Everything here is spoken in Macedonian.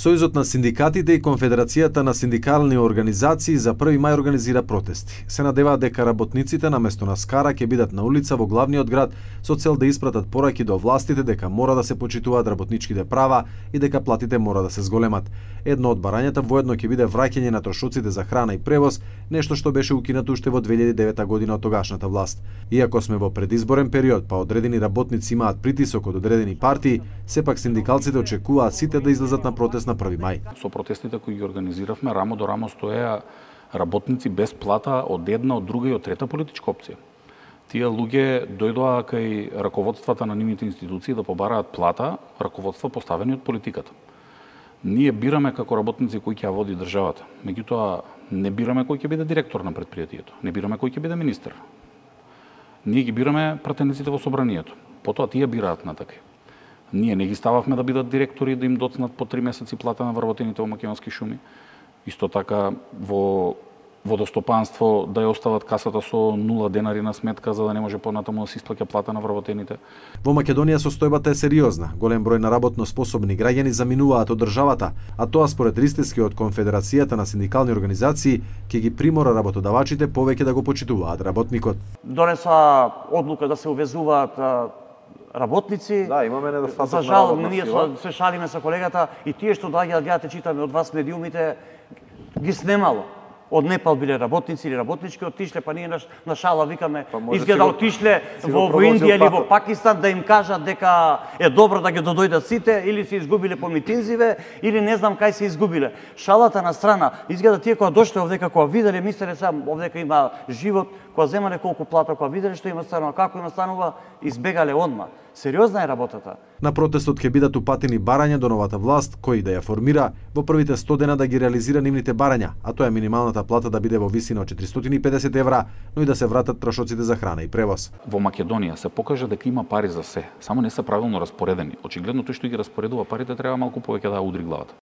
Сојузот на синдикатите и Конфедерацијата на синдикални организации за 1 мај организира протести. Се надеваат дека работниците наместо на скара ќе бидат на улица во главниот град со цел да испратат пораки до властите дека мора да се почитуваат работничките права и дека платите мора да се зголемат. Едно од барањата воедно ќе биде враќање на трошоците за храна и превоз, нешто што беше укинато уште во 2009 година од тогашната власт. Иако сме во предизборен период, па одредени работници имаат притисок од одредени партии, сепак синдикалците очекуваат сите да излезат на протест на 1 мај. Со протестите кои ги организиравме, рамо до рамо стоеа работници без плата од една, од друга и од трета политичка опција. Тие луѓе дојдоа кај раководствата на нивните институции да побараат плата, раководства поставени од политиката. Ние бираме како работници кој ќе ја води државата. Меѓутоа, не бираме кој ќе биде директор на предпријатието, не бираме кој ќе биде министер. Ние ги бираме пратениците во собранието. Потоа тие бираат натака. Ние не ги стававме да бидат директори, да им доцнат по 3 месеци плата на вработените во Македонски шуми. Исто така во водостопанство да ја остават касата со 0 денари на сметка за да не може понатаму да се исплаќа плата на вработените. Во Македонија состојбата е сериозна. Голем број на работно способни граѓани заминуваат од државата, а тоа според листески од Конфедерацијата на синдикални организации ќе ги примора работодавачите повеќе да го почитуваат работникот. Донеса одлука да се увезуваат работници. Да, имаме недостаток. За жал, ние се шалиме со колегата и тие што доаѓаат, гледате, читаме од вас медиумите, ги снемало. Од Непал биле работници или работнички, отишле, па ние на шала викаме, изгледа отишле во Индија или во Пакистан да им кажат дека е добро да ги додојдат сите, или се изгубиле по митинзиве, или не знам кај се изгубиле. Шалата на страна, изгледа тие кога дошле овдека, кога виделе, мислеле сам овдека има живот, кога земале колку плата, кога виделе што има станува, како има станува, избегале одма. Сериозна е работата. На протестот ќе бидат упатени барања до новата власт, кој да ја формира во првите 100 дена да ги реализира нивните барања, а тоа е минималната плата да биде во висина од 450 евра, но и да се вратат трошоците за храна и превоз. Во Македонија се покажа дека има пари за се, само не се правилно распоредени. Очигледно тој што ги распоредува парите треба малку повеќе да удри главата.